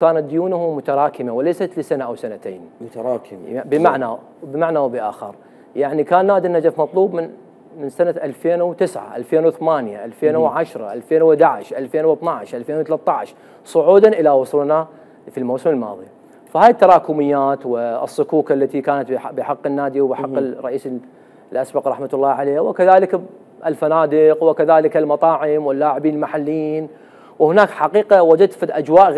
كانت ديونه متراكمة وليست لسنة أو سنتين. متراكمة بمعنى وبآخر. يعني كان نادي النجف مطلوب من سنة 2009 2008 2010 2011 2012 2013 صعودا إلى وصولنا في الموسم الماضي. فهاي التراكميات والصكوك التي كانت بحق النادي وبحق الرئيس الأسبق رحمة الله عليه، وكذلك الفنادق وكذلك المطاعم واللاعبين المحليين، وهناك حقيقة وجدت في أجواء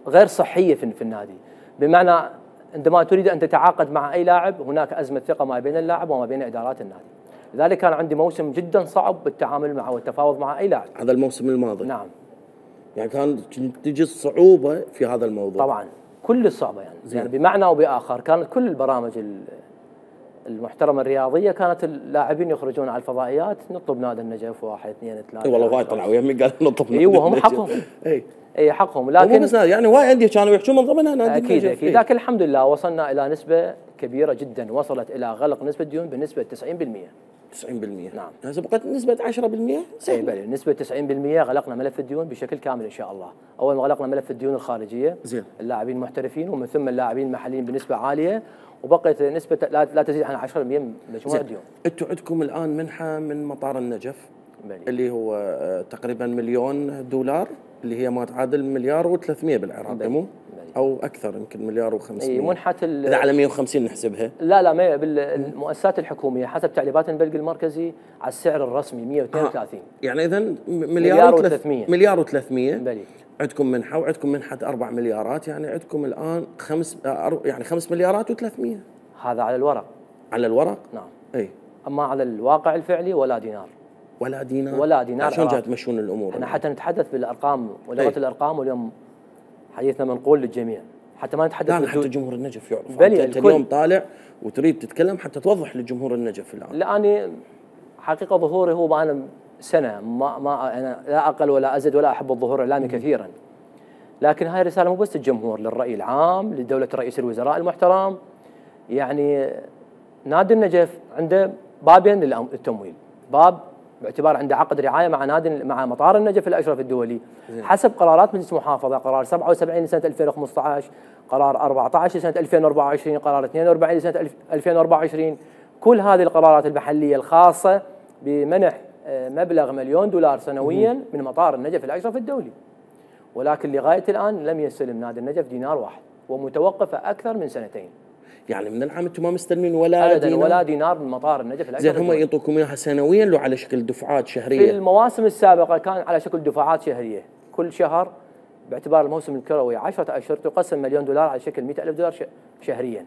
غير صحية في النادي. بمعنى عندما تريد أن تتعاقد مع أي لاعب هناك أزمة ثقة ما بين اللاعب وما بين إدارات النادي. لذلك كان عندي موسم جدا صعب بالتعامل معه والتفاوض مع أي لاعب. هذا الموسم الماضي. نعم. يعني كان تجي الصعوبة في هذا الموضوع. طبعا كل الصعوبة يعني بمعنى وبآخر كانت كل البرامج المحترمة الرياضية كانت اللاعبين يخرجون على الفضائيات نطلب نادي النجف 1 2 3. والله وايد طلعوا يمي قال نطلب نادي النجف. وهم حقهم. اي حقهم. لكن بس يعني وايد أندية كانوا يحجون من ضمنها نادي النجف. اكيد لكن الحمد لله وصلنا إلى نسبة كبيرة جدا، وصلت إلى غلق نسبة ديون بنسبة 90%. 90%. نعم. هسه بقت نسبة 10%. اي بلى نسبة 90% غلقنا ملف الديون بشكل كامل ان شاء الله. اول ما غلقنا ملف الديون الخارجية زين. اللاعبين المحترفين ومن ثم اللاعبين المحليين بنسبة عالية، وبقيت نسبة لا تزيد عن 10% من مجموع الديون. انتم عندكم الآن منحة من مطار النجف بلي. اللي هو تقريبا $1,000,000 اللي هي ما تعادل 1,300,000,000 بالعراق مو؟ او اكثر يمكن 1,500,000. اي منحة اذا على 150 نحسبها. لا ما بالمؤسسات الحكومية حسب تعليمات البنك المركزي على السعر الرسمي 132. يعني اذا مليار و300 بلي. عندكم منحة وعندكم منحة 4 مليارات، يعني عندكم الآن 5 مليارات و300. هذا على الورق. على الورق؟ نعم. اي. اما على الواقع الفعلي ولا دينار. ولا دينار. ولا دينار. شلون جاي تمشون الامور؟ احنا حتى نتحدث بالارقام ولغة الارقام، واليوم حديثنا منقول للجميع حتى ما نتحدث. لا حتى جمهور النجف يعرف. انت اليوم طالع وتريد تتكلم حتى توضح للجمهور النجف الان. لاني حقيقه ظهوري هو انا سنه ما انا لا اقل ولا ازيد ولا احب الظهور الاعلامي كثيرا، لكن هاي الرساله مو بس للجمهور، للراي العام، لدوله رئيس الوزراء المحترم. يعني نادي النجف عنده بابين للتمويل، باب باعتبار عنده عقد رعايه مع مطار النجف الاشرف الدولي حسب قرارات مجلس المحافظه، قرار 77 لسنه 2015، قرار 14 لسنه 2024، قرار 42 لسنه 2024. كل هذه القرارات المحليه الخاصه بمنح مبلغ $1,000,000 سنويا من مطار النجف الاشرف الدولي. ولكن لغايه الان لم يستلم نادي النجف دينار واحد، ومتوقفه اكثر من سنتين. يعني من العام انتم ما مستلمين ولا دينار؟ ولا دينار من مطار النجف الاشرف. زين هم يعطوكم اياها سنويا لو على شكل دفعات شهريه؟ في المواسم السابقه كان على شكل دفعات شهريه، كل شهر باعتبار الموسم الكروي 10 اشهر تقسم $1,000,000 على شكل $100,000 شهريا.